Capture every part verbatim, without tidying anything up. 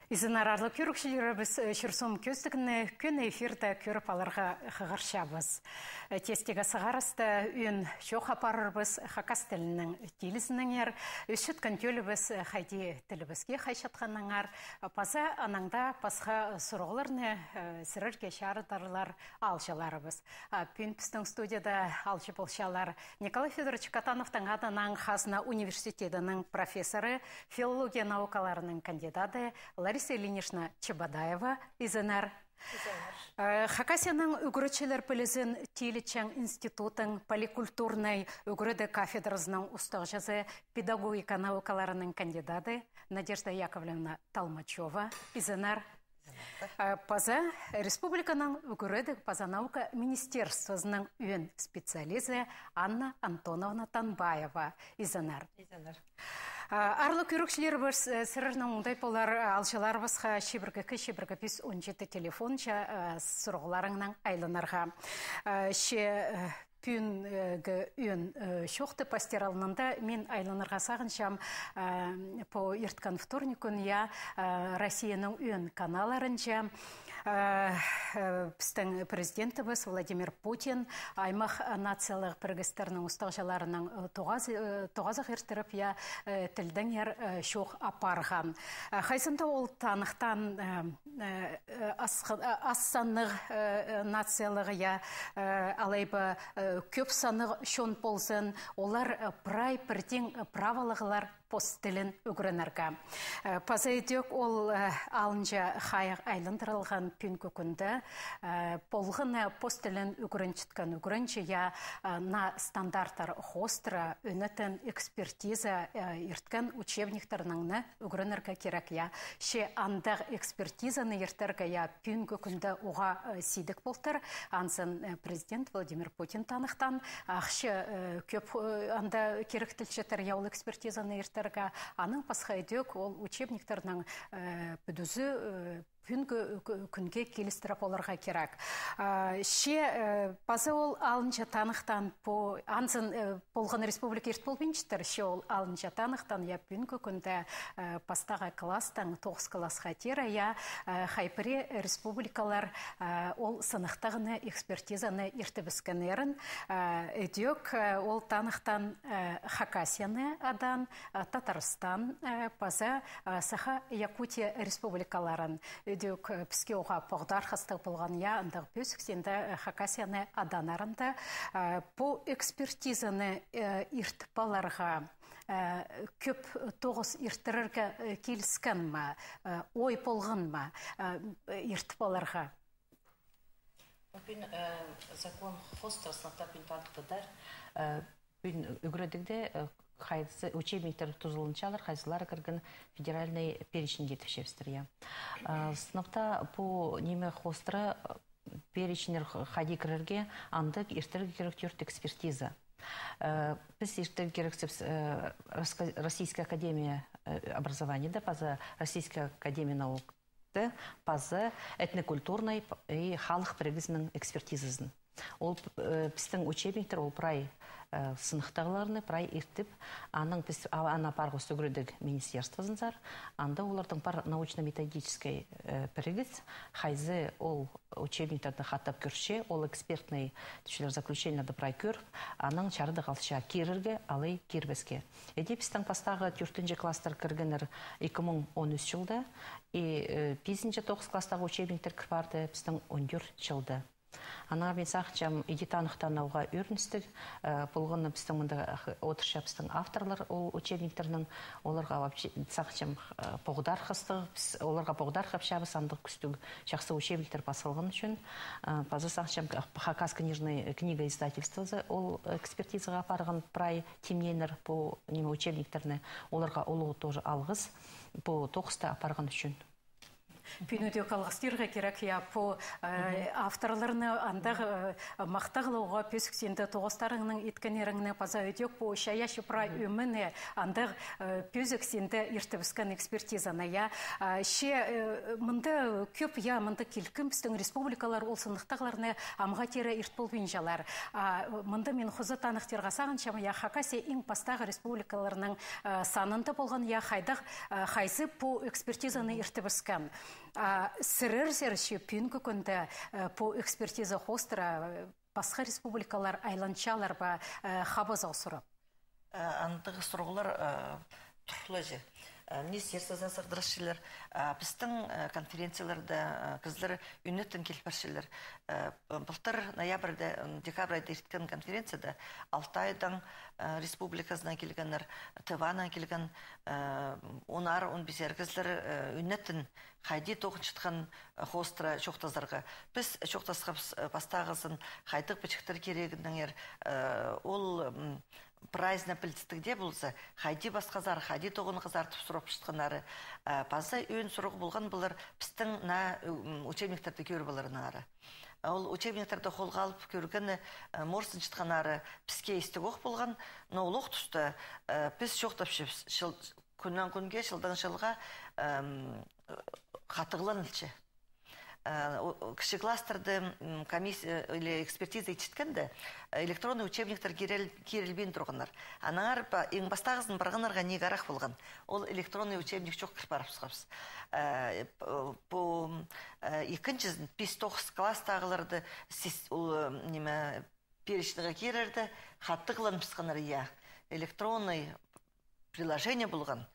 Изеннер, аарлығ кӧрігҷілерібіс, э, «Чир-суум» кӧзідігні кӧні эфирде кӧріп аларға хығырчабыс. Э, тестегі сығарыста ӧӧн чоох апарарбыс хакас тілінің тилізінеңер, ӧс чатхан тӧлібіс, э, хайди тілібіске хайчатханнаңар, паза анаң даа пасха сурығларны, э, сірерге чарыдарлар аалҷыларыбыс. А пӱӱн пістің студияда аалҷы полчалар Николай Фёдорович Катановтың адынаң Хазна университедінің профессоры, филология наукаларының кандидаты Лариса Ильинична Чебодаева, изеннер. Изеннер. Э, Хакасияның ӱгретчілер пілізін тилітчең институттың поликультурнай ӱгредіг кафедрасының устағҷызы, педагогика наукаларының кандидаты Надежда Яковлевна Толмачева, изеннер. Э, паза республиканың ӱгредіг паза наука министерствозының ӧӧн специализі Анна Антоновна Танбаева, изеннер. Изеннер. Э, аарлығ кӧрігҷілерібіс, э, сірернің оңдай полар, э, аалҷыларыбысха чибіргі ікі, чибіргі пис, он читі телефонҷа, э, сурығларыңнаң айланарға. Э, че, э, пӱӱнгі ӧӧн, э, чоохты пастир алнында мин айланарға сағынчам, э, пу ирткен вторник кӱн, я, э, Россияның ӧӧн каналларынҷа, э, э, пістің президентібіс Владимир Путин аймах, э, нациялығ пірігістернің устағҷыларынаң, э, тоғаз-, э, тоғазах иртіріп, я, э, тілдеңер, э, чоох апарған. Э, хайзында ол таныхтаан, э, э, э, ас-, э, ас саннығ, э, э, нациялығ, я, э, алай ба, э, кӧп саннығ чон ползын, олар, э, прай пірдеең, э, праволығлар пос тілін ӱгренерге. Э, паза ідӧк ол, э, алынҷа хайығ айландырылған пӱӱнгі кӱнде, э, полған, э, пос тілін ӱгренчеткен ӱгренҷі, я, э, наа стандарттар хоостыра ӧнетін экспертиза, э, ирткен учебниктернең не ӱгренерге кирек, я. Че андағ экспертизаны иртерге, я, пӱӱнгі кӱнде уғаа, э, сидік полтыр. Анзын, э, президент Владимир Путин таныхтаан, ахча, э, кӧп, э, анда киректелчетір, я, ол экспертизаны иртерге. Анаң пасха ідӧк ол учебниктернің, э, пӱдізі, э, пӱӱнгі кӱ-, кӱнге килістіріп аларға кирек. А, че, э, паза ол алынҷа таныхтаан пу, анзын, э, полған республика ирт полбинчатыр, че ол алынҷа таныхтаан, я, пӱӱнгі кӱнде, э, пастағы класстаң тоғыс классха теере, я, э, хай пірее республикалар, э, ол сыныхтағны, экспертизаны иртібіскеннерін, э, ідӧк, э, ол таныхтаан, э, Хакасияны адаан, э, Татарстан, э, паза, э, Саха Якутия республикаларын. Ідӧк, э, піске уғаа поғдархастығ полған, я, андағ пӧзік синде, э, Хакасияны аданнарында, э, пу экспертизаны, э, иртіп аларға, э, кӧп тоғыс иртірерге, э, киліскен ме, э, ой полған ма, э, иртіп аларға? Пӱӱн, э, закон хоостыра сынап та пӱӱн таныхтадар, э, пӱӱн ӱгредігде, э, хайзы учебниктер тузаланчалар, хайзылары кірген федеральный переченьге тіпчебістір, я. Э, сынап та пу ниме хоостыра, э, переченьнер х-, хайди кірерге, андағ иртерге кирек тӧрт экспертиза. Э, піс иртерге кирексібіс, э, Росска-, Российская академия, э, образованияда, паза Российская академия наук, паза этнокультурнай п-, и халых пірігізінің экспертизазын. Ол, э, пістің учебниктер, ол прай, э, сыныхтағларны прай иртіп, анаң піс, а-, аны апарғабыс ӱгредіг министерствозынзар, анда олардың пар научно-методическай, э, пірігіс, хайзы ол учебниктерні хатап кӧрче, ол экспертный, тіпчелер, заключениелерні прай кӧріп, анаң чарыдығ алча кирерге, алай кирбеске. Іди пістің пастағы тӧртінҷі класстар кіргеннер ікі муң он ӱс чылда, и, э, пизінҷі тоғыс класстағы учебниктер кір парды пістің он тӧрт чылда. Аннаңар мин сағынчам, іди таныхтаан уғаа ӧріністіг, э, полған на пістің мында, ах, одырчабыстың авторлар ол учебниктернің, оларға вообще, сағынчам, э, поғдархастығ, піс оларға поғдархапчабыс, андағ кӱстіг чахсы учебниктер пас салған ӱчӱн. Э, паза сағынчам, х-, Хакас книжный, книга издательствозы ол экспертизаға апарған прай тимнееннер пу, ниме, учебниктерні, оларға улуғ тоже алғыс пу тоғысты апарған ӱчӱн. Пӱӱн ідӧк алғыстирға кирек, я, пу, э, авторларны андағ, э, махтағлауға пӧзік синде тоғыстарыңның иткеннеріңні, паза ідӧк пу чайаачы прай ӧмені андағ, э, пӧзік синде иртібіскен экспертизаны, я. А, че, э, мында кӧп, я, мында килкім пістің республикалар ол сыныхтағларны амға тире ирт полбинчалар. А, мында мин хоза таныхтирға сағынчам, я, Хакасия иң пастағы республикаларның, э, санында полған, я, хайдағ, э, хайзы пу экспертизаны иртібіскен. А сірер, сірерче, пӱӱнгі кӱнде, э, пу экспертиза хоостыра, э, пасха республикалар айланчалар ба, э, хабазығ сурап? Э, андағ сурығлар, э, турлаҷа. Э, министерствозар сығдырчалар, э, пістің, э, конференцияларда, э, кізілер ӱнетін киліп парчалар. Э, былтыр ноябрьда, м, декабрьда ирткен конференцияда Алтайдаң, э, республиказынаң килгеннер, Тыванаң килген, э, он аар, он пис аар кізілер, э, ӱнетін хайди тоғынчатхан, э, хоостыра чоохтазарға. Піс чоохтасхабыс, э, пастағызын, хайдағ пічіктер кирегінеңер, э, ол, м, прайзына пілдістіг дее полза, хайди пасхазар, хайди тоғынғазар тіп сурапчатханнары. Э, паза ӧӧн сурығ полған полар пістің наа, м, учебниктерді кӧріп аларынаңары. Ол учебниктерді холға алып кӧргені, э, морсынчатханнары піске истіг ох полған, но ол ох туста, э, піс чоохтапчабыс, чыл-, кӱннең кӱнге, чылдаң чылға, эм, хатығланылча. Э, о-, о, кічіг класстарда, м, комиссия, э, или экспертиза итчеткенде, э, электронный учебниктер кирел-, кирілбин турғаннар. Аннаңар па-, иң пастағызын парғаннарға ниик арах полған. Ол электронный учебник чох кір парыбысхабыс. Э, п-, пу, э, ікінҷізін, пис-тоғыс класстағыларды сис-, ол, э, ниме, перечниге кирерде, хатығланыбысханнар, я. Электронный приложение полған.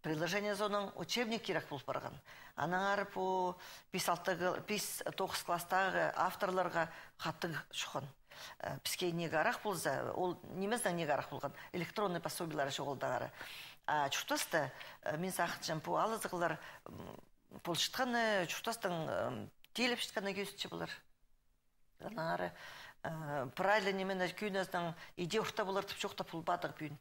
Приложение соонаң учебник кирек пол парған. Аннаңар пу пис-алты кл-, пис-тоғыс класстағы авторларға хатығ чуххан. Э, піске ниик арах полза, ол нимезінең ниик арах полған? Электронный пособиелер чоғыл даңары. А чуртаста, э, мин сағынчам, пу алызығлар, м, полчатханы, чуртастың, м, тилепчеткені кӧзітче полар. Аннаңар, э, прай ла нимені кӧнізінең иди орта полар тіп чоохтап полбадығ пӱӱн.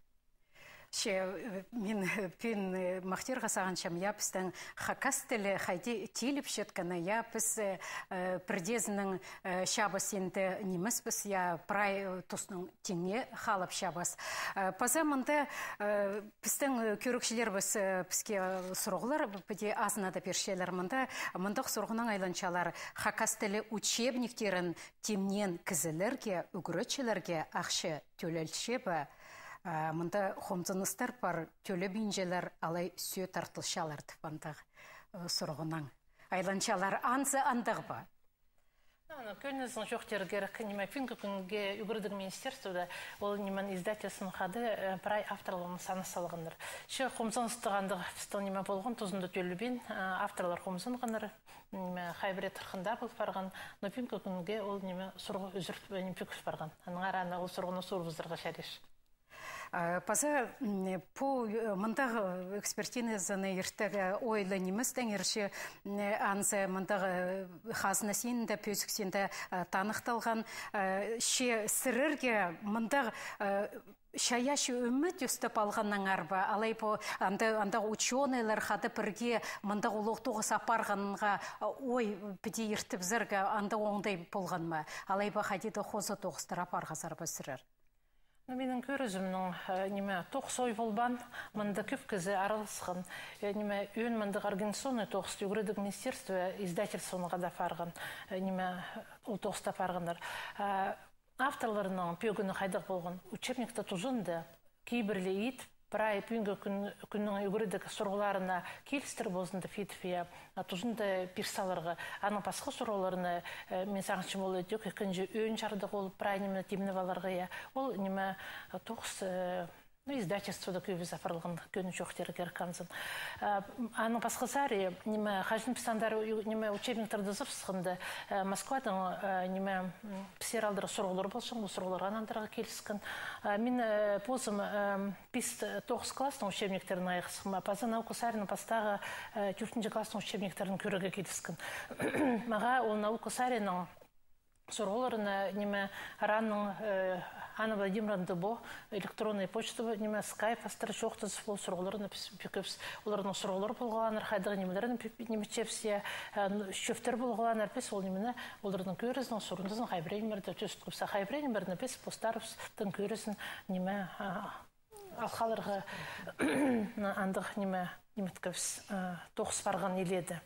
Че, э, мин, э, пӱӱн, э, махтирға сағынчам, я, пістің хакас тілі хайди тилепчеткені, я, піс, э, э, пірдеезінең, э, чабыс синде нимеспіс, я, прай, э, тустың тиңе халапчабыс. Э, паза мында, э, пістің, э, кӧрігҷілерібіс, э, піске, э, сурығлар, піди азына даа пирчелер. Мында, мындағ сурығнаң айланчалар. Хакас тілі учебниктерін тимнеен кізілерге, ӱгретчілерге ахча тӧлелче бе? Э, мында хомзыныстар пар, тӧлебинчелер, алай сӧӧ тартылчалар тіп, мындағ, э, сурығнаң айланчалар. Анзы андағ ба? Аны кӧнізінең чоохтирға кирек, ниме, пӱӱнгі кӱнге ӱгредіг министерствода ол, ниме, издательствоның хада, э, прай авторларның саны салғаннар. Че хомзыныстығ андағ пістің, ниме, полған, тузында тӧлебин, э, авторлар хомзынғаннар, ниме, хай пірее тырхында пол парған, но пӱӱнгі кӱнге ол, ниме, сурығ ӱзіріл-, ниме, пӱкіл парған. Аннаңар аны ол сурығны сурыбызарға чарир. А, паза, м, пу, э, мындағ экспертизаны иртірерге ойлаң ниместең иртче, м, анзы мындағ, э, хазна синінде, пӧзік синде, э, таныхталған, э, че сірерге мындағ, э, чайаачы ӧме тӧстеп алғаннаңар ба? Алай пу анда, андағ учёныйлар хада пірге мындағ улуғ тоғыс апарғанға, э, ой, піди иртібізерге, андағ оңдай полған ма? Алай ба хайди даа хоза тоғыстар апарғазар ба сірер? Ну, минің кӧрізімнең, э, ниме, тоғыс ой полбаан, мында кӧп кізі араласхан. Э, ниме, ӧӧн мындағ организационный тоғысты ӱгредіг министерство, издательствонаң хада парған. Э, ниме, ол тоғыста парғаннар. А авторларның пӧгіні хайдағ полған? Учебникті тузында кибірле ит, прай пӱӱнгі кӱн, кӱннің ӱгредіг сурығларына килістір позында фитфия, а, тузында пир саларға. Аның пасха сурығларына, э, мин сағынчам, ол ідӧк ікінҷі ӧӧн чардығ ол прай ниме тимнеп аларға, я. Ол ниме, э, тоғыс, э, ну, издательствода кӧбізі апарылған кӧні чоохтирға кирек анзын. Э, аның пасхазары, ниме, хаҷан піс андар у-, ниме, учебниктерді ызыбысханда, э, Москвадаң, э, ниме, м, піссер алдыра сурығлар полҷаң, ол сурығларға нандырарға киліскен. Э, мин, э, позым, э, пис-тоғыс класстың учебниктерін айғасхам, а паза наука саринаң пастағы, э, тӧртінҷі класстың учебниктерін кӧрерге киліскен. Мағаа ол наука саринаң сурығларына, ниме, РАНның, э, Анна Владимировна, пу электронный почта, ниме, скайп астыра чоохтазып, ол сурығларны піс пӧкебіс. Оларның сурығлары полғаннар, хайдағ нимелерін пӧ-, ниме, чепсе, э, н-, чӧптер полғаннар, піс ол нимені, оларның кӧрізін, сурынызын хай пірее нимелерде тӧстебіс, а хай пірее нимелерні піс постарыбыстың кӧрізін, ниме, а, алхаларға андағ ниме, ниметкебіс, э, тоғыс парған илееде.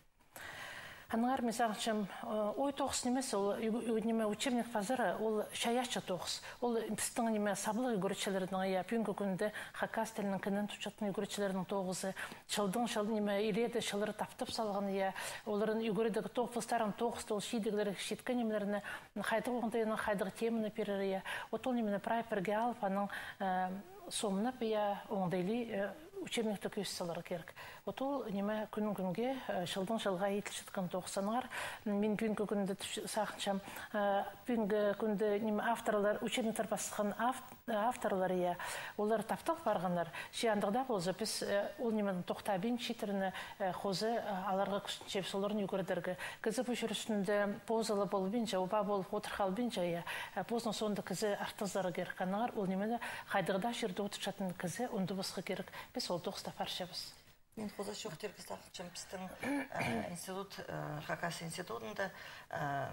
Аннаңар мин сағынчам, э, ой тоғыс нимес, ол ю-, ю-, ниме, учебник пазары, ол чайаачы тоғыс. Ол пістің, ниме, саблығ ӱгретчілернің, я, пӱӱнгі кӱнде хакас тілінің кінін тутчатхан ӱгретчілернің тоғызы. Чылдаң чыл, ниме, илееде чыллар таптап салған, я, оларның ӱгредіг тоғ-, постарының тоғызы, ол чидіглер, читкен нимелерні, хайдағ оңдайны, хайдағ теманы пирер, я. От ол нимені прай пірге алып, анаң, э, сомнап, я, оңдайлы, э, учебникті кӧзіт саларға кирек. От ол, ниме, кӱннең кӱнге, э, чылдаң чылға иділчеткен тоғыс. Аннаңар мин пӱӱнгі кӱнде тіп сағынчам, э, пӱӱнгі кӱнде, ниме, авторлар, учебниктер пасхан ав-, э, авторлар, я, олар таптал парғаннар. Че андағ даа полза, піс, э, ол нимені тохтабин, чииттерні, э, хоза, э, аларға кӱстенчебіс, оларны ӱгредерге. Кізі пу чир ӱстӱнде позы ла полбинча, оба полып одыр халбинча, я, э, позының соонда кізі артызарға кирек. Аннаңар ол нимені хайдағ даа чирде одырчатхан кізі ундубасха кирек. Піс ол тоғыста парчабыс. Мин хоза чоохтирға сағынчам, пістің, э, институт, э, Хакас институтында, э,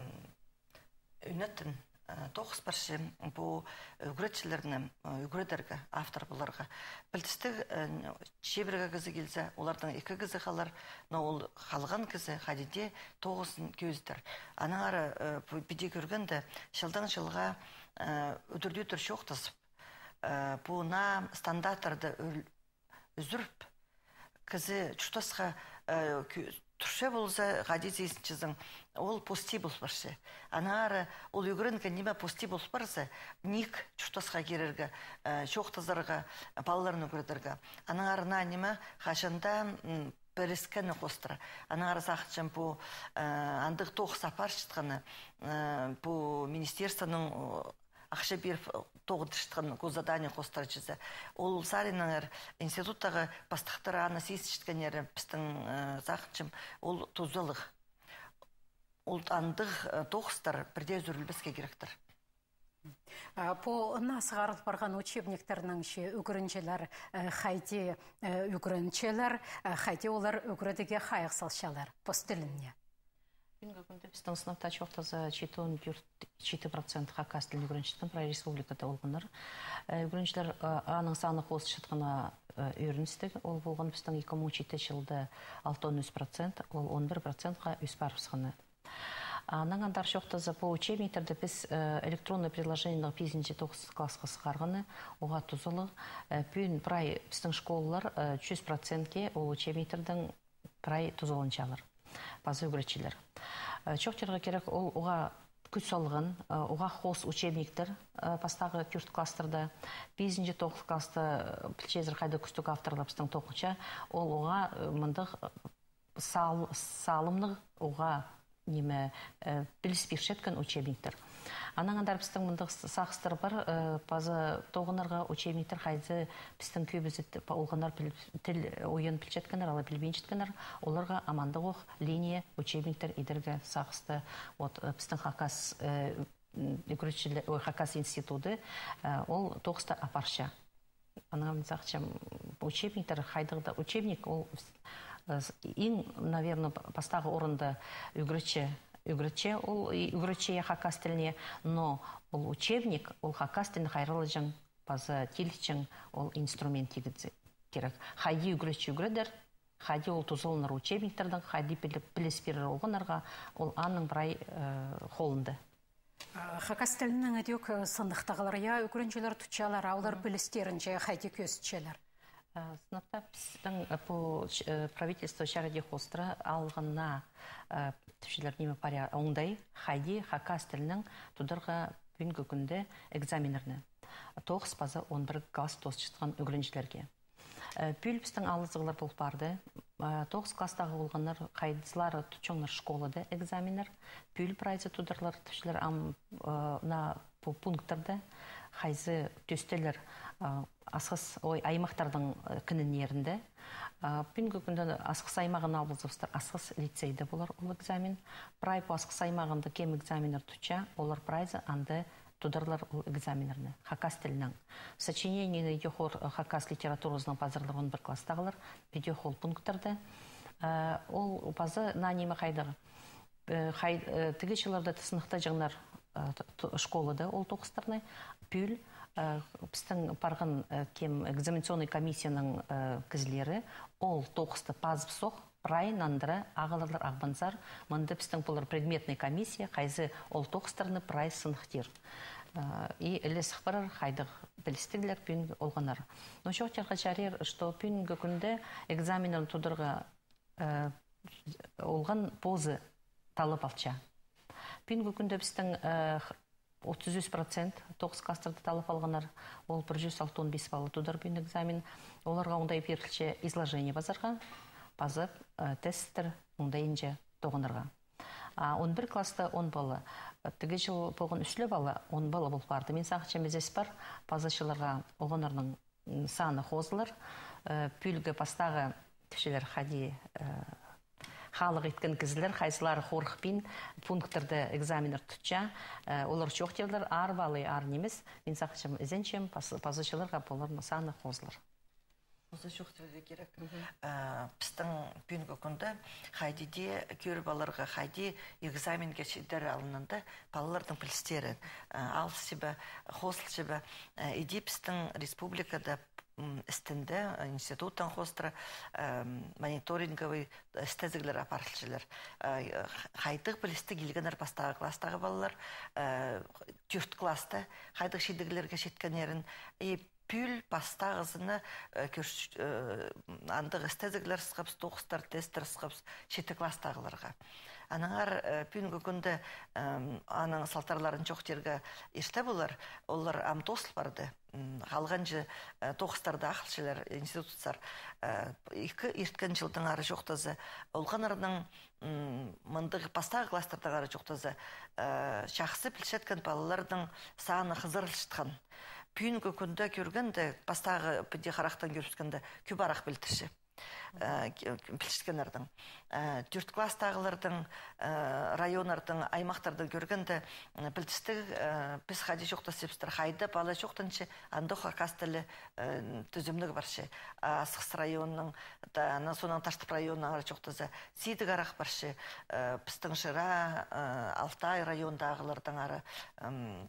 ӱнетін, э, тоғыс парча, пу ӱгретчілерні, э, ӱгредерге, автор поларға. Пілдістіг, э, чибіргі кізі килзе, олардаң ікі кізі халар, но ол халған кізі хайди дее тоғызын кӧзідер. Аннаңар, э, пу піди кӧргенде, чылдаң чылға, э, удур-тӧдір чоохтазып, э, пу наа стандарттарны ӱл-, ӱзӱріп, кізі чуртасха, э, кӧ-, турча полза, хайди сизінчезің, ол пости пол парча. Аннаңар ол ӱгренген ниме пости пол парза, ниик чуртасха кирерге, э, чоохтазарға, палаларны ӱгредерге. Аннаңар наа ниме хаҷан даа, м, піліскені хоостыра. Аннаңар сағынчам, пу, э, андағ тоғыс апарчатханы, э, пу министерствоның, о, ахча пиріп, э, тоғынчатхан госзадание хоостыра чізе. Ол саринаң ир институттағы пастыхтар аны сизінчеткеннері, пістің, э, сағынчам, ол тузалығ. Ол андағ, э, тоғыстар пірдее ӱзӱрілбеске киректер. А, пу наа сығарыл парған учебниктернең че ӱгренҷілер, э, хайди, э, ӱгренчелер, э, хайди олар ӱгредіге хайығ салчалар пос тіліне? Пӱӱнгі кӱнде пістің сынап таа чоохтаза, читі он тӧрт, читі процент хакас тілін ӱгренчеткен прай республикада олғаннар. Э, ӱгренҷілер, э, аның саны хозылчатханы, э, ӧріністіг. Ол полған пістің ікі муң он читі чылда алты он ӱс процент, ол он пір процентха ӧс парыбысханы. Анаң андар чоохтаза, пу учебниктерді піс, э, электронный приложениенең пизінҷі тоғыс классха сығарғаны, оға тузалығ, э, пӱӱн прай пістің школалар, э, чӱс процентке ол учебниктердең прай тузаланчалар. Паза ӱгретчілер. Э, чоохтирға кирек, ол оға кӱс салған, э, оға хоос учебниктер, э, пастағы тӧрт класстарда, пизінҷі тоғыс класста, э, пілчезер, хайдағ кӱстіг авторлар пістің тоғынча, ол оға, э, мындағ, э, сал-, салымнығ, оға, ниме, э, піліс пирчеткен учебниктер. Анаң андар пістің мындағ с-, сағыстар пар, э, паза тоғынарға учебниктер, хайзы пістің кӧбізі т-, па-, олғаннар піл-, тіл ойын пілчеткеннер, алай пілбинчеткеннер, оларға амандағ ох линия учебниктер идерге сағысты. Вот, э, пістің хакас, э, м, ӱгретчіле-, ой, хакас институты, э, ол тоғысты апарча. Анаң мин сағынчам, учебниктер, хайдағ даа учебник, ол, э, с-, иң, наверно, п-, пастағы орында ӱгретчі, ӱгретчі, ол и ӱгретчі, я, хакас тіліне, но ол учебник, ол хакас тілін хайраллаҷаң паза тилҷең ол инструмент тигізі кирек. Хайди ӱгретчі ӱгредер, хайди ол тузаланар учебниктердең, хайди пілі-, піліс пирер олғаннарға, ол аның прай, э, холында. А, хакас тілінең ідӧк, э, сыныхтағлар, я, ӱгренҷілер тутчалар, а олар пілістерінҷе хайди кӧзітчелер? Э, сынап таа пістің, э, пу ч-, э, правительство чарыдии хоостыра алғанна, э, тіпчелер, ниме, паря оңдай, хайди хакас тілінең тударға пӱӱнгі кӱнде экзаменнерні тоғыс паза он пір класс тоосчатхан ӱгренҷілерге. Э, пӱӱл пістің алызығлар пол парды. Э, тоғыс класстағы олғаннар хайдызылары тутчаңнар школада экзаменнер, пӱӱл прайзы тударлар тіпчелер ам, э, наа пу пункттарда, хайзы тӧстелер, э, Асхыс, ой, аймахтарның, э, кінінерінде. Э, пӱӱнгі кӱнде Асхыс аймағын алыбызыбыстыр, Асхыс лицейде полар ол экзамен. Прай пу Асхыс аймағында кем экзаменнер тутча, олар прайзы анда тударлар ол экзаменнерні хакас тілінең. Сочинениені идӧк хор-, хакас литературазынаң пазарлар он пір класстағылар, идӧк ол пункттарда. Э, ол паза наа ниме хайдағ. Э, хай-, э, тігі чылларда сыныхтаҷаңнар, э, т-, т-, школада ол тоғыстарны. Пӱӱл, э, пістің парған, э, кем экзаменационный комиссияның, э, кізілері ол тоғысты пазып сох, прай нандыра ағыларлар Ағбанзар, мында пістің полар предметный комиссия, хайзы ол тоғыстарны прай сыныхтир. Э, и іле сых парар, хайдағ пілістіглер пӱӱн олғаннар. Но чоохтирға чарир, что пӱӱнгі кӱнде экзаменнерні тударға, э, олған позы таллап алча. Пӱӱнгі кӱнде пістің, э, х-, отыс ӱс процент тоғыс класстарда таллап алғаннар, ол пір чӱс алтон пис пала тудар пӱӱн экзамен. Оларға оңдай пирілче изложение пазарға, пазып, э, тесттер оңдайынҷа тоғынарға. А он пір класста он пала, тігі чыл полған ӱс ле пала, он пала пол парды. Мин сағынчам, ізес пар, паза чылларға олғаннарның, м, саны хозылар. Э, пӱӱлгі пастағы тіпчелер хайди, э, халых иткен кізілер, хайзылары хорыхпин пункттарда экзаменнер тутча, э, олар чоохтирлар, аар пала, аар нимес. Мин сағынчам, ізенчем, пас-, паза чылларға поларның саны хозылар. Позы чоохтирға кирек. Мгм. Э, пістің пӱӱнгі кӱнде хайди даа кӧріп аларға, хайди экзаменге читер алнында палалардың пілістерін, э, алысча ба, хозылча ба, э, иди пістің республикада, м, істінде, э, институттаң хоостыра, э, мониторинговый істезіглер апарылчалар. Э, х-, хайдағ пілістіг илгеннер пастағы класстағы палалар, э, тӧрт класста хайдағ чидіглерге читкеннерін, и пӱӱл пастағызына, э, кӧрч-, э, андағ істезіглер ысхабыс, тоғыстар, тесттер ысхабыс читі класстағыларға. Аннаңар, э, пӱӱнгі кӱнде, эм, аның салтарларын чоохтирға ирте полар, олар ам тоозыл парды. М, халғанҷы, э, тоғыстарда ахылчалар институтсар. Э, ікі ирткен чылдаңар чоохтаза, олғаннарның, м, мындағ пастағы класстардаңар чоохтаза, э, чахсы пілчеткен палаларның саны хызырылчатхан. Пӱӱнгі кӱнде кӧргенде, пастағы піди харахтаң кӧрібіскенде, кӧп арах пілдірче. Э, ке-, пілчеткеннернің. Э, тӧрт класстағыларның, э, районнарның, аймахтарның кӧргенде, м, пілдістіг, э, піс хайди чоохтасчабыстыр, хайда пала чоохтанча, андох хакас тілі, э, тӱзімніг парча. А Асхыс районының, та, ана, соонаң Таштып районынаңар чоохтаза, сидік арах парча, э, пістің Шира, э, Алтай райондағыларның ары, м,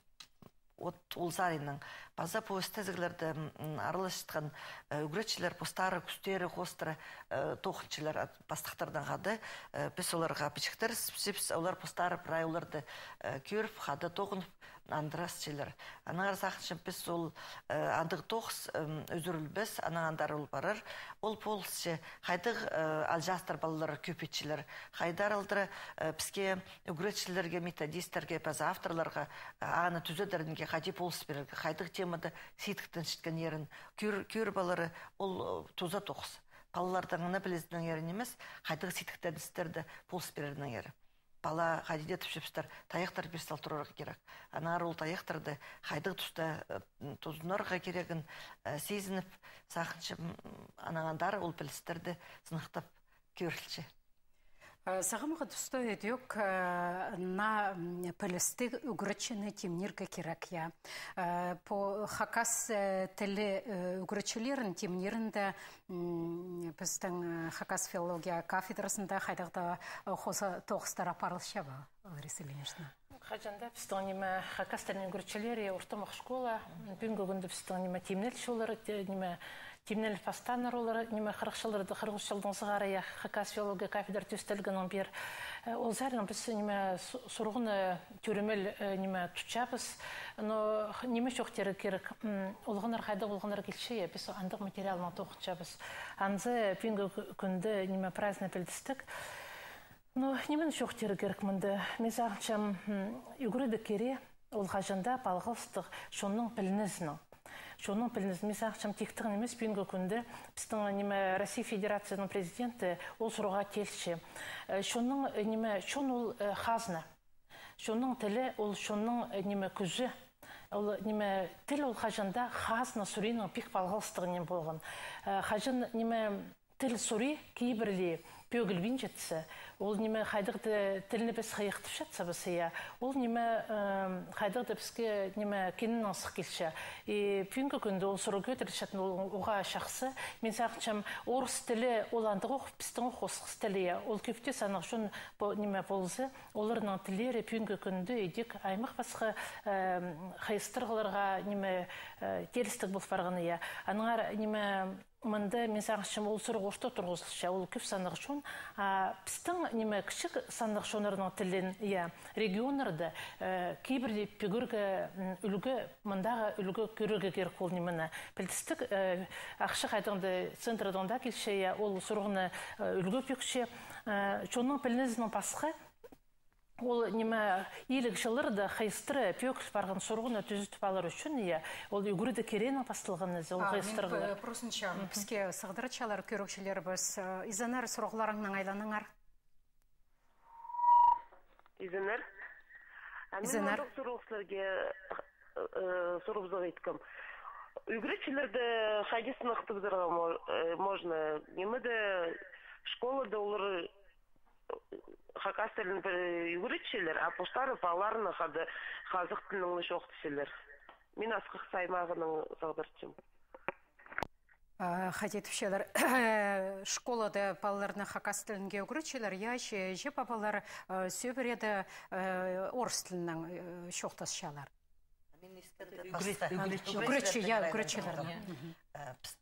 от ол саринаң. Паза пу істезіглерде, м, араласчатхан, э, ӱгретчілер постары кӱстері хоостыра, э, тоғынчалар ат-, пастыхтарнаң хада, э, піс оларға пічіктер ысчабыс, олар постары прай оларды, э, кӧріп, хада тоғынып, андыра ысчалар. Аннаңар сағынчам, піс ол, э, андағ тоғыс, м, ӱзӱрілбес, анаң андар ол парар. Ол полысча, хайдағ, э, алҷаастар палалар кӧп итчелер, хайдар алдыра, э, піске, ӱгретчілерге, методисттерге, паза авторларға, э, аны тӱзедерінге хайди полыс пирерге, хайдағ темада сидіктенчеткеннерін кӧр-, кӧріп алары, ол, э, туза тоғыс. Палаларның аны пілізінеңер нимес, хайдағ сидіктеністерде полыс пирерінеңер. Пала хайди даа тіпчебістер, тайахтар пир сал турарға кирек. Аннаңар ол тайахтарды хайдағ туста, э, тузынарға кирегін, э, сизініп, сағынчам, анаң андар ол пілістерді сыныхтап кӧрілче. Э, сағамғы туста ідӧк, э, наа, м, пілістіг ӱгретчіні тимнирге кирек, я. Э, пу хакас, э, тілі, э, ӱгретчілерін тимнирінде, м, пістің, э, хакас филология кафедразында хайдағ даа, э, хоза тоғыстар апарылча ба, Лариса Ильинична? Хаҷан даа пістің, ниме, хакас тілінің ӱгретчілері, ортымах школа, пӱӱнгі кӱнде пістің, ниме, тимнелче олар, те-, ниме, тимнел пастааннар олар, ниме, хырых чылларда, хырых ӱс чылдаң сығара, я, хакас филология кафедра тӧстелгеннең пеер. Э, ол саринаң піс, ниме, су-, сурығны тӧремел, э, ниме, тутчабыс. Но х-, ниме чоохтирға кирек, м, олғаннар хайдағ олғаннар килче, я, піс андағ материалнаң тоғынчабыс. Анзы пӱӱнгі кӱ-, кӱнде, ниме, прайзына пілдістіг. Ну, нимені чоохтирға кирек мында? Мин сағынчам, м, ӱгредіг кире, ол хаҷан даа палғалыстығ чонның пілінізінең. Чонның пілінізінең. Мин сағынчам, тиктіг нимес, пӱӱнгі кӱнде пістің, ниме, Россия Федерацияның президенті ол сурығға теелче. Э, чонның, э, ниме, чон ол, э, хазна. Чонның тілі ол чонның, э, ниме, кӱзі. Ол, ниме, тіл ол хаҷан даа хазна суринаң пик палғалыстығ ниме полған. Э, хаҷан, ниме, тіл сури кибірлі, пӧгілбинчетсе, ол ниме хайдағ-да тілні піс хыйыхтапчатсабыс, я, ол ниме, э, хайдағ-да піске ниме киннең сых килче. И пӱӱнгі кӱнде ол сурығ кӧдірілчеткен, ол уғаа чахсы. Мин сағынчам, орыс тілі ол андағ ох, пістің ох осхас тілі, я, ол кӧп тее саннығ чон по-, ниме полза, оларның тіллері пӱӱнгі кӱнде идӧк аймах-пасха, э, хайыстырығларға ниме, э, теелістіг пол парған, я. Аннаңар ниме, мында, мин сағынчам, ол сурығ орта турғызылча, ол кӧп саннығ чон, а пістің, ниме, кічіг саннығ чоннарның тілін, я, регионнарда, э, кибірде пӱгӱрге, м, ӱлгӱ, мындағы ӱлгӱ кӧрерге кирек ол нимені. Пілдістіг, э, ахча хайдағ-да центрдең даа килче, я, ол сурығны, э, ӱлгӱ пӧкче, э, чонның пілінізінең пасха, ол ниме, иліг чылларда хайыстыра пӧгіл парған сурығны тӱзедіп алар ӱчӱн, я, ол ӱгредіг кирегінең пасталған ниме, ол А, мин, хайыстырығлар. Э, просынчам, піске сығдыратчалар кӧрігҷілерібіс, э, изеннер, сурығларыңнаң айланыңар. Изеннер. А мин Изеннер. Мындағ сурығ сірерге, э, сурыбызарға иткем. Ӱгретчілерді хайди сынап тыбызарға мо-, э, можно? Нимеде, школада олар хакас тілін пір ӱгретчелер, а постары палаларны хада хазах тілінең чоохтасчалар. Мин Асхыс аймағынаң сығдырчам. А, хайди тіпчелер, школада палаларны хакас тілінге ӱгретчелер, я, че, че пабалар, э, сӧбіреде, э, орыс тілінең, э, чоохтасчалар. Мин искенде Ӱгрет-, пасха. Ӱгретчі. Ӱгретчі, я, ӱгретчілернең. Мгм. Э, піс-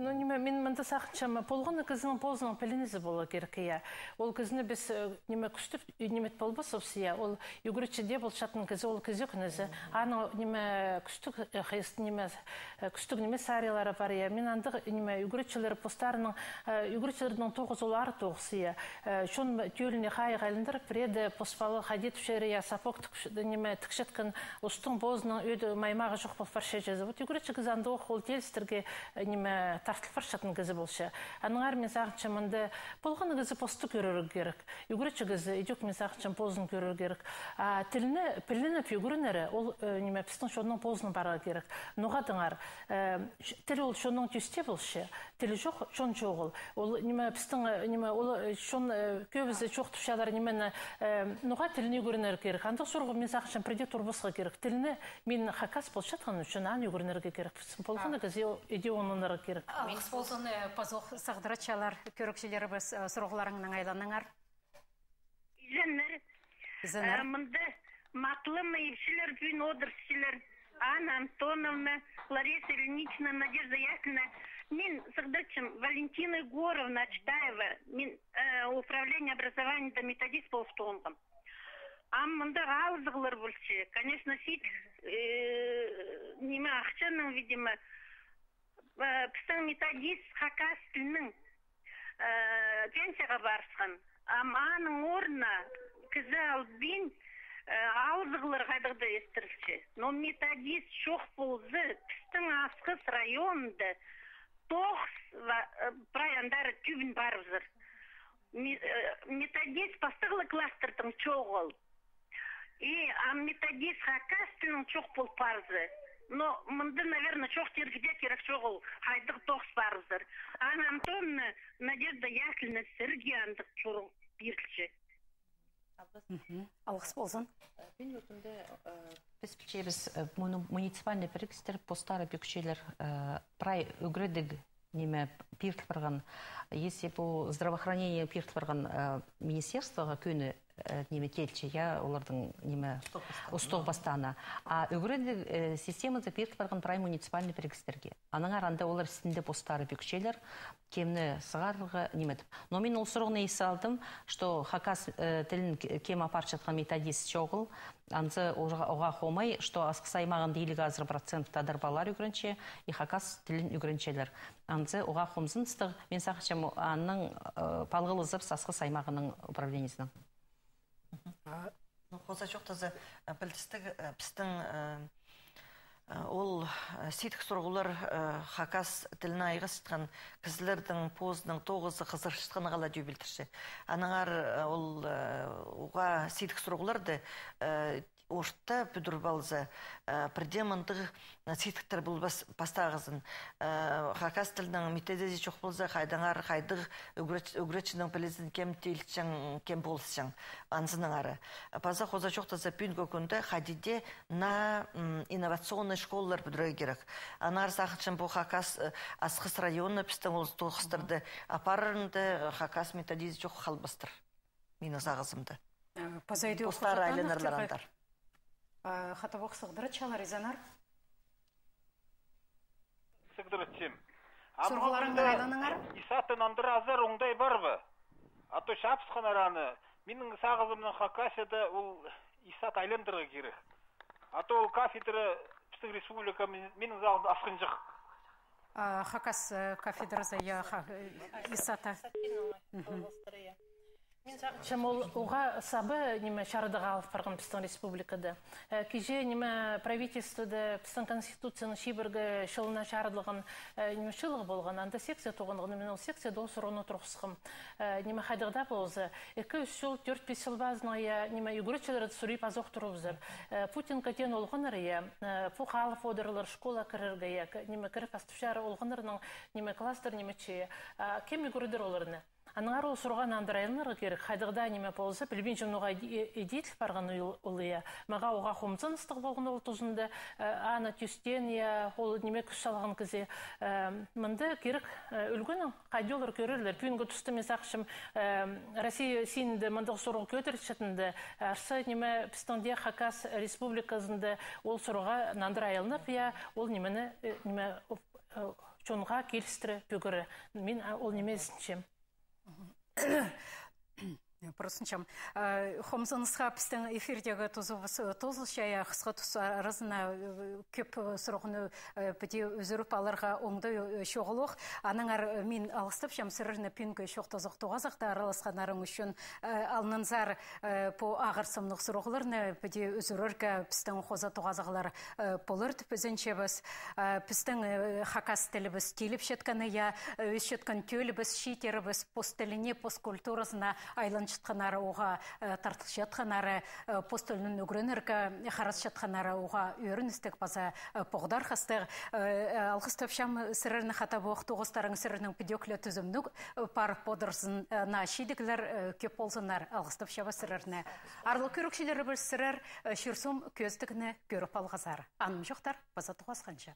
Ну, ниме, мин мында сағынчам, полған на кізінің позының пілінізі поларға кирек, я. Ол кізіні піс, э, ниме, кӱстеп, и ниме полбаспыс, я. Ол ӱгретчі дее полчатхан кізі, ол кізі кӧнізі. Аның, ниме, кӱстіг, э, хайыс-, ниме, э, кӱстіг ниме сарийлары пар, я. Мин андағ, ниме, ӱгретчілер постарының, э, ӱгретчілернің тоғызы ол аар тоғыс, я. Э, чон тӧліне хайығ айландырып, пірееде пос пала хайди тіпчелер, я, сапог тік-, ниме, тікчеткен устың позының ӧӧде маймағы чох пол парча чізе. Вот ӱгретчі кізі андағ ох, ол теелістерге, э, ниме, тартыл парчатхан кізі полча. Аннаңар мин сағынчам, мында полған кізі посты кӧрерге кирек. Ӱгретчі кізі идӧк, мин сағынчам, позын кӧрерге кирек. А тілні пілініп ӱгренері, ол, э, ниме, пістің чонның позының парарға кирек. Ноға тыңар, э, ч-, тіл ол чонның тӧстең полча, тілі чох, чон чоғыл. Ол, ниме, пістің, э, ниме, ол, э, чон, э, кӧбізі чоохтапчалар, ниме, э, ноға тілні ӱгренерге кирек. Андағ сурығ, мин сағынчам, пірдее турбасха кирек. Тілні мин хакас полчатхан ӱчӱн аны ӱгренерге кирек. Полған на кізі иди оңнанарға кирек. Алғыс ползын, э, пазох сығдыратчалар кӧрігҷілерібіс, э, сурығларыңнаң айланыңар. Изеннер. Изеннер. Э, мында матлы ипчілер пӱӱн одырчалар. Анна Антоновна, Лариса Ильинична, Надежда Яковлевна. Мин сығдырчам, Валентина Егоровна Ачтаева. Мин, э, управление образованияда методист полып тоғынғам. Ам мында алызығлар полча. Конечно, сидік, э, ниме, ахчаның, видимо, э, пістің методист хакас тілінең, э, пенсияға парысхан. Ам аның орнына кізі албин, э, алызығлар хайдағ-да истірілче. Но методист чох полза, пістің Асхыс районында тоғыс ва-, э, прай андар тӧбін парыбызар. Ме-, э, методист пастағы ла класстардаң чоғыл. И, а методист хакас тілінең чох пол парза. Но мында, наверное, чоохтирға даа кирек чоғыл, хайдағ тоғыс парыбызар. Анна Антоновна, Надежда Яковлевна, сірерге андағ сурығ пирілче. Мгм. Алғыс ползын. Э, пӱӱнгі кӱнде, э, піс пілчебіс, э, муни-, муниципальный пірігістер постары пӧкчелер, э, прай ӱгредіг ниме пиріл парған. Если пу здравоохранение пиріл парған, э, министерствоға кӧні, э, ниме теелче, я, олардың ниме устағ пастаана. А ӱгредіг, э, системазы пиріл парған прай муниципальный пірігістерге. Аннаңар анда олар істінде постары пӧкчелер, кемні сығарарға, ниме тіп. Но мин ол сурығны ис алдым, что хакас, э, тілін к-, кем апарчатхан методист чоғыл, анзы оға, оға хомай, что Асхыс аймағында илиг азыра процент тадар палалар ӱгренче, и хакас тілін ӱгренчелер. Анзы оға хомзыныстығ, мин сағынчам, аның, э, палғалызыбыс Асхыс аймағының управлениезінең. А, ну, хоза чоохтаза, э, пілдістіг, э, пістің, э, э, ол, э, сидік сурығлар, э, хакас тіліне айғасчатхан кізілердің позының тоғызы хызырчатханы ла дее пілдірче. Аннаңар, э, ол, э, уғаа сидік сурығларды, э, орта пӱдіріп алза, э, пірдее мындағ, э, сидіктер полбас пастағызын. Э, хакас тілінің методизі чох полза, хайдағ аңар, хайдағ ӱгрет-, ӱгретчінің пілізін кем тилчең, кем полысчаң, анзынаң ары. Паза хоза чоохтаза, пӱӱнгі кӱнде хайди дее наа, м, инновационный школалар пӱдірерге кирек. Аннаңар сағынчам, пу Хакас, э, Асхыс районы пістің ол тоғыстарды апарарында, э, хакас методизі чох халбастыр. Минің сағызымда. Э, паза иди постары айланарлар андар. Э, хатабох сығдырчалар, изеннер. Сығдырчам. Сурғыларыңны айланыңар. Исаттан андыра азар оңдай бар ба? А то чапысханнар аны. Минің сағызымның Хакасияда ол исат айландырарға кирек. А то ол кафедра пістің республика, минің сағызым, асхынҷых. А, хакас, э, кафедразы, я, ха-, э, исата. Мин сағынчам, ол уғаа саба ниме чарыдығ алып парған пістің республикада. Э, кичее ниме правительствода пістің конституцияның чибіргі чылына чарыдылған, э, ниме чылығ полған, анда секция тоғынған, мин ол секцияда ол сурығны турғысхам. Э, ниме хайдағ даа полза, ікі-ӱс чыл, тӧрт-пис чыл пазынаң, я, ниме ӱгретчілерді сурып азох турыбызар. Э, Путинка теен олғаннар, я, э, пу халып одырлар школа кірерге, я, к-, ниме кіріп астыпчар олғаннарның, ниме класстар, ниме че. А кем ӱгредер оларны? Аннаңар ол сурығға нандыра айланарға кирек, хайдағ даа ниме полза, пілбинчем, ноға иди-, иділ парған ол, ол, я. Мағаа уғаа хомзыныстығ полған ол тузында, э, аны тӧстеен, я, ол ниме кӱс салған кізі. Э, мында кирек, э, ӱлгӱннің хайди олар кӧрерлер. Пӱӱнгі туста мин сағынчам, э, Россия синінде мындағ сурығ кӧдірілчетінде, арса ниме пістің дее Хакас республиказында ол сурығға нандыра айланып, я, ол нимені, э, ниме, э, чонға килістіре пӱгіре. Мин, а, ол ниме ізінчем. Простынчам. Э, хомзынысха пістің эфирдегі тузыбыс, э, тоозылча, я, хысха тус аразына, э, кӧп, э, сурығны, э, піди ӱзӱріп аларға оңдай, э, чоғыл ох. Аннаңар, э, мин алғыстапчам сірерні пӱӱнгі чоохтазығ тоғазығда араласханнарың ӱчӱн. Э, алнынзар, э, пу ағырсымнығ сурығларны піди ӱзӱрерге пістің хоза тоғазығлар, э, полар тіп ізенчебіс. Э, пістің, э, хакас тілібіс тиліпчеткені, я, э, ӧсчеткен тӧлібіс, чииттерібіс пос тіліне, пос культуразына айланчатханнары, уғаа, э, тартылчатханнары, э, пос тілін ӱгренерге харасчатханнары, уғаа ӧріністіг паза, э, поғдархастығ. Э, алғыстапчам сірерні, хатабох тоғыстарың сірернің підӧк ле тӱзімніг, э, парып одырзын, э, наа чидіглер, э, кӧп ползыннар. Алғыстапчабыс сірерні. Аарлығ кӧрігҷілерібіс, сірер, э, чир-суум кӧзідігні кӧріп алғазар. Анымҷохтар, паза тоғасханҷа.